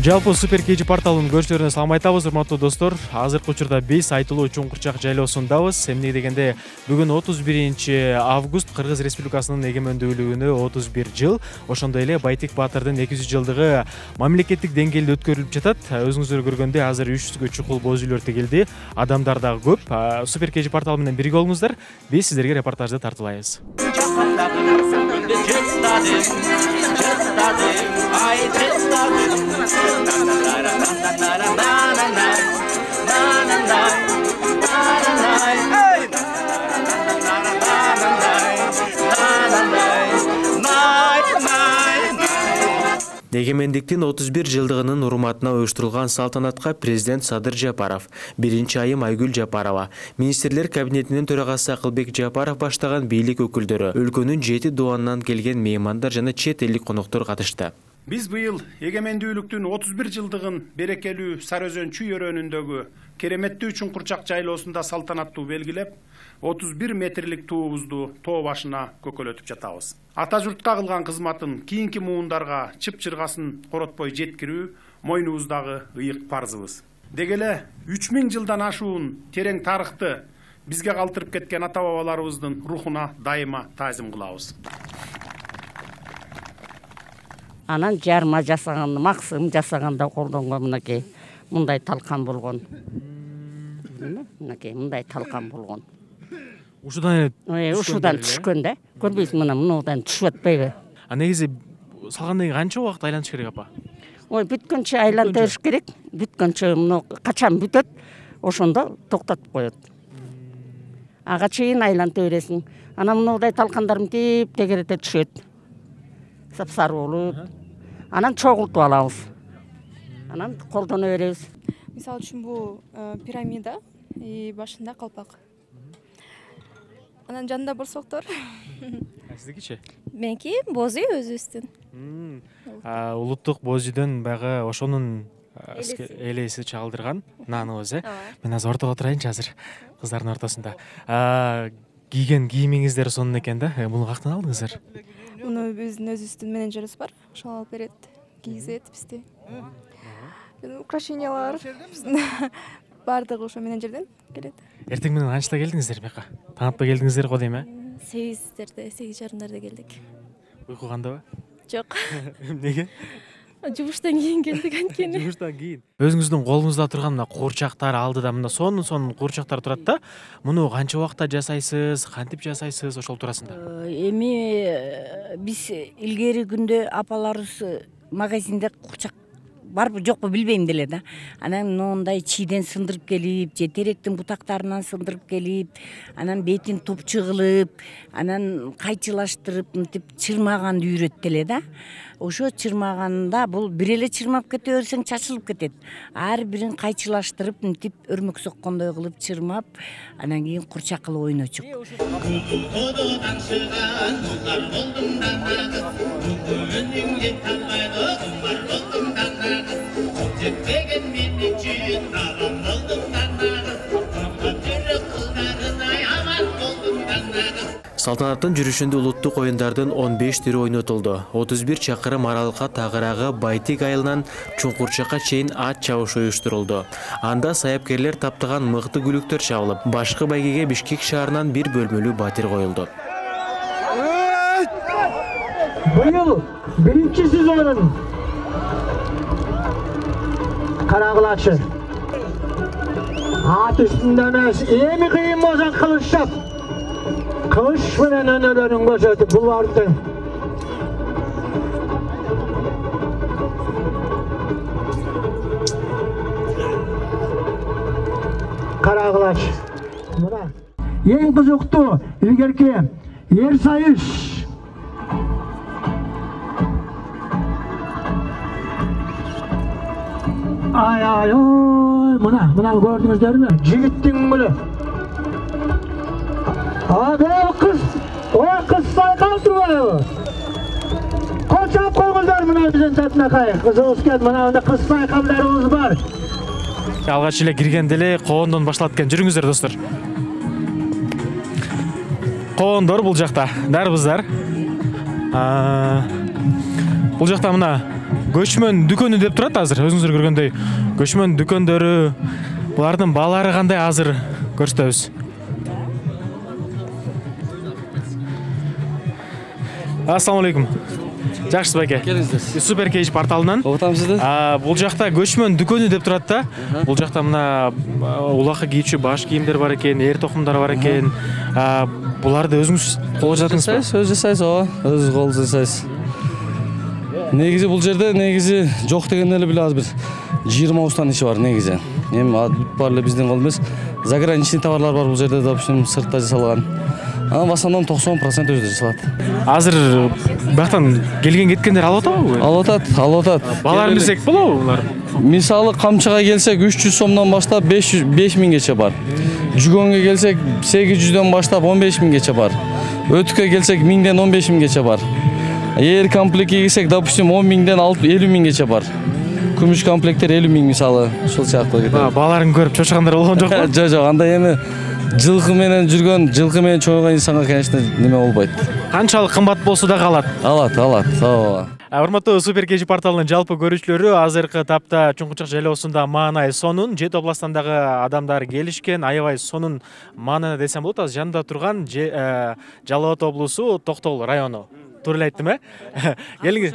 Жалпы Супер KG порталынын көрүүчүлөрүнө салам айтабыз, урматтуу достор. Азыркы учурда биз айтылуу Чуңкурчак жайлоосундабыз. Эмне дегенде бүгүн 31 август Кыргыз Республикасынын эгемендүүлүгүнө 31 жыл. Ошондой эле Байтек Баатырдын 200 жылдыгы мамлекеттик деңгээлде өткөрүлүп жатат. Өзүңүздөр көргөндөй азыр 300гө чукул боз үйлөр тигилди. Адамдар дагы көп. Супер KG порталы менен бирге болуңуздар. Биз сиздерге репортажды тартуулайбыз. Эгемендиктин 31 жылдыгынын урматына уюштурулган салтанатка президент Садыр Жапаров, биринчи айым Айгүл Жапарова, министрлер кабинетинин төрагасы Акылбек Жапаров баштаган бийлик өкүлдөрү, өлкөнүн 7 дуанынан келген меймандар жана чет элдик коноктор катышты. Биз быйыл эгемендүүлүктүн 31 жылдыгын берекелүү Сары Өзөн чүй өрөөнүндөгү кереметтүү Чуңкурчак жайлоосунда салтанаттуу белгилеп, 31 метрлик туубузду тоо башына көкөлөтүп жатабыз. Ата журтка кылган кызматын кийинки муундарга чып-чыргасын коротпой жеткирүү мойнубуздагы ыйык парзыбыз. Деги эле 3000 жылдан ашуун терең тарыхты бизге калтырып кеткен ата бабаларыбыздын рухуна дайыма таазим кылабыз. Анан жарма жасаган, максым жасаганда колдонгон мынакей мындай талкан болгон. Мынакей мындай талкан болгон. Ушудан түшкөн да. Көрбөйсүң, мындан түшүп атпайбы? Негизи салгандан кийин канча убакыт айлантыш керек апа? Бүткөнчө айлантырыш керек. Бүткөнчө качан бүтөт, ошондо токтотуп коет. Ага чейин айланта бересиң. Анан мындай талкандар тегерете түшөт. Сапсары болуп, анан чогултуп алабыз. Анан колдоно беребиз. Мисалы үчүн бул пирамида, башында калпак. Анан жанында борсоктор. Сиздикичи? Меники боз үй өзүбүздүн. Улуттук боз үйдөн баягы ошонун элеси чагылдырган наныбыз, Мен азыр ортого отурайынчы азыр кыздардын ортосунда. Кийген кийимиңиздер сонун экен да. Муну кактан алдыңыздар? Муну биздин өзүбүздүн менеджерибиз бар. Ошол алып берет, кийгизет бизди. Украшениялар бардыгы ошо менеджерден келет. Эртең менен канчта келдиңиздер бияка? Таң атпай келдиңиздер го дейм, 8-дерде, 8:30 келдик. Уйку кандабы? Жок. Эмнеге? Жумуштан кийин келдик анткени. Жумуштан кийин. Өзүңүздүн колуңузда турган мына куурчактар алдыда мына сонун куурчактар турат да. Муну канча убакытта жасайсыз, кантип жасайсыз, ошол туурасында? Эми биз илгери күндө апаларыбыз магазинде куурчак барбы жокпу билбейм деле да. Анан мындай чийден сындырып келип, же теректин бутактарынан сындырып келип, анан бетин топчу кылып, анан кайчылаштырып, мынтип чырмаганды үйрөт деле да. Ошо чырмаганда бул бир эле чырмап кете берсең чачылып кетет. Ар бирин кайчылаштырып, мынтип өрмөк соккондой кылып чырмап, анан кийин курчак кылып ойночук. Салтанаттын жүрүшүндө улуттук оюндардын 15 түрү ойнотулду. 31 чакырым аралыкка тагыраагы Байтек айылынан Чуңкурчакка чейин ат чабыш уюштурулду. Анда саяпкерлер таптаган мыкты күлүктөр чабылып, башкы байгеге Бишкек шаарынан бир бөлмөлүү батир коюлду. Быйыл биринчи сезонун карагылачы. Ат үстүндө эмес, эми кыйын болсо кылыч чап. Кылыч менен өнөлөрүн көрсөтүп буларды. Карагылач. Мына эң кызыктуу илгерки эр сайыш. Ай, мына көрдүңүздөрмү? Жигиттин гүлү. Kız sayqal turmalı. Koçap koyğuzlar mına bizden tatına kayık. Kızımız geldi, mına kız sayqallarımız var. Алгач эле киргенде эле коондон башталат экен. Жүрүңүздөр достор. Коондор бул жакта. Дарбыздар. Бул жакта мына көчмөн дүкөнү деп турат азыр. Өзүңүздөр көргөндөй көчмөн дүкөндөрү, булардын баалары кандай азыр көрсөтөбүз. Ассаламу алейкум. Жакшысыз байке? Келиңиздер. Супер Кейж порталынан. Отам сизди. Бул жакта көчмөн дүкөнү деп турат да. Бул жакта мына улакка кийүүчү баш кийимдер бар экен, эр токумдар бар экен. Буларды өзүңүз кол жасадыңызбы? Өз жасайсыз, ооба. Өз кол жасайсыз. Негизи бул жерде жок дегенде эле азыр бир 20 устан иши бар негизи. Эми бар эле биздин кол эмес. Заграничный товарлар бар бул жерде, допустим, сыртта жасалган. В основном 90% өзү жасалат. Азыр бактан келген кеткендер алып атабы? Алып атат. Бааларын билсек болобу булар? Мисалы камчыга келсек 300 сомдон баштап 5000гече бар. Жүгөнгө келсек 800дөн баштап 15000гече бар. Өтүккө келсек 1000ден 15000гече бар. Эгер комплектке кирсек, допустим, 10000ден 50000гече бар. Күмүш комплекттер 50000 мисалы, ушул сыяктуу кетет. Бааларын көрүп чочкандар болгон жокпу? Жок, андай эми жылкы менен жүргөн, жылкы менен чогойгон инсанга, конечно, неме болбойт. Канчалык кымбат болсо да калат. Алат, ооба. Урматтуу Супер Кейж порталынын жалпы көрүүчүлөрү, азыркы тапта Чуңкурчак жайлоосунда Маанай Сонун 7 областандагы адамдар келишкен. Аябай сонун маанайда десем болот. Азыр жанында турган Жалал Абад облусу Токтогул району. Туура эле айттым, Келиңиз.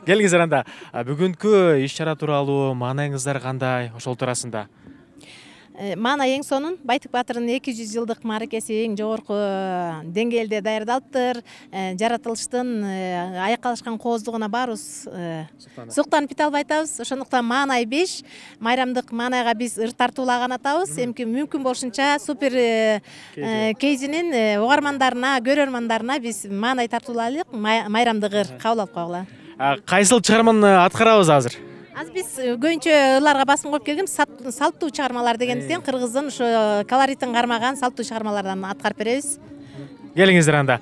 Келиңиздер анда. Бүгүнкү иш-чара тууралуу маанайыңыздар кандай? Ошол туурасында. Маанай эң сонун Байтык Баатырдын 200 жылдык мааракеси эң жогорку деңгээлде даярдалыптыр. Жаратылыштын аякка алышкан кооздугуна баарыбыз суктанып бите албай атабыз. Ошондуктан Маанай 5 майрамдык маанайга биз ыр тартуулаган атабыз. Эми мүмкүн болушунча Супер Кейжинин угармандарына, көрөрмандарына биз Маанай тартуулайлык майрамдык ыр кабыл алып койгула. Кайсыл чыгарманы аткарабыз азыр? Азыр биз көбүнчө ырларга басым коюп келгем, салттуу чыгармалар дегендиктен кыргыздын ошо колоритин кармаган салттуу чыгармалардан аткарып беребиз. Келиңиздер анда.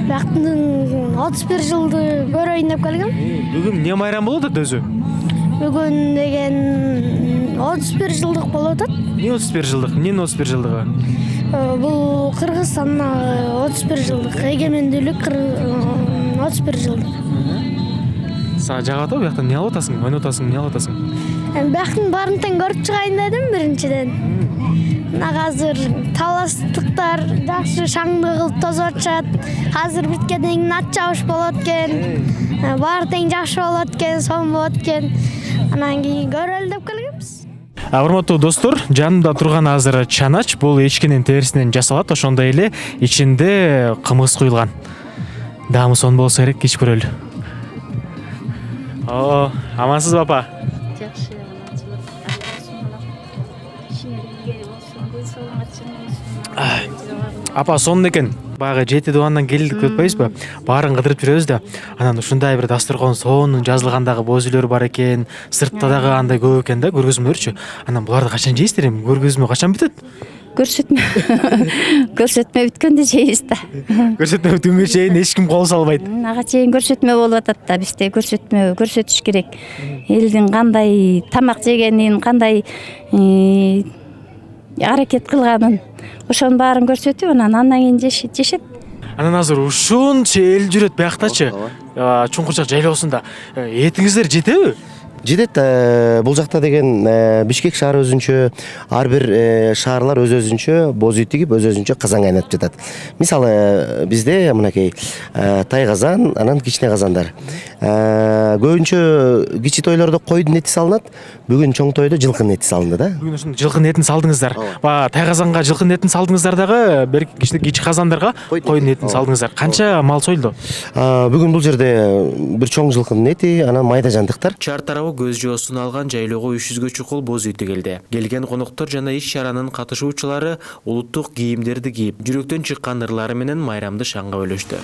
Бактын 31 жылды көрөйүн деп келгем. Бүгүн эмне майрам болуп атат өзү? Бүгүн деген 31 жылдык болуп атат. Эмне 31 жылдык? Эмненин 31 жылдыгы? Бул Кыргызстандын 31 жылдык, эгемендүүлүк 31 жылдык. Сага жагат атабы? Бияктан эмне алып атасың? Ойноп атасың, эмне алып атасың? Бияктын баарын тең көрүп чыгайын дедим биринчиден. Мына азыр таластыктар жакшы шаңды кылып тосуп атышат. Азыр битке дейин нат чабыш болот экен. Баары тең жакшы болот экен, сонун болот экен. Анан кийин көрөлү деп келгенбиз. Урматтуу достор, жанымда турган азыр чанач, бул эчкинин терисинен жасалат, ошондой эле ичинде кымыз куюлган. Даамы сонун болсо керек, ичип көрөлү. Амансызбы апа? Жакшы, Апа сонун экен. Баягы 7 дубандан келдик деп атпайбызбы? Баарын кыдырып жүрөбүз да. Анан ушундай бир дасторкон сонун жазылгандагы боз үйлөр бар экен, сыртта дагы андай көп экен да, көргөзмөлөрчү. Анан буларды качан жейсиздер эми? Көргөзмө качан бүтөт? Көрсөтмө бүткөндө жейбиз да. Көрсөтмө бүткөнгө чейин эч ким кол салбайт. Ага чейин көрсөтмө болуп атат да, бизде көрсөтмө көрсөтүш керек. Элдин кандай тамак жегенин, кандай аракет кылганын, ошонун баарын көрсөтүп, андан кийин жешет. Анан азыр ушунча эл жүрөт бияктачы. Чуңкурчак жайлоосунда. Этиңиздер жетеби? жетет. Бул жакта деген Бишкек шаары өзүнчө, ар бир шаарлар өз-өзүнчө боз үй тигип, өз-өзүнчө казан кайнатып жатат. Мисалы bizde мынакей тай казан, анан кичине казандар. Көбүнчө кичи тойлордо койдун эти салынат, бүгүн чоң тойдо жылкынын эти салынды да. Бүгүн ушун жылкынын этин салдыңыздар. Тай казанга жылкынын этин салдыңыздар дагы, бир кичи казандарга койдун этин салдыңыздар. Канча мал союлду? Бүгүн бул жерде бир чоң жылкынын эти, анан майда жандыктар. Чаар тарабы көз жоосун алган жайлоого 300гө чукул боз үй тигилди. Келген коноктор жана иш чаранын катышуучулары улуттук кийимдерди кийип, жүрөктөн чыккан ырлары менен майрамды шаңга бөлөштү.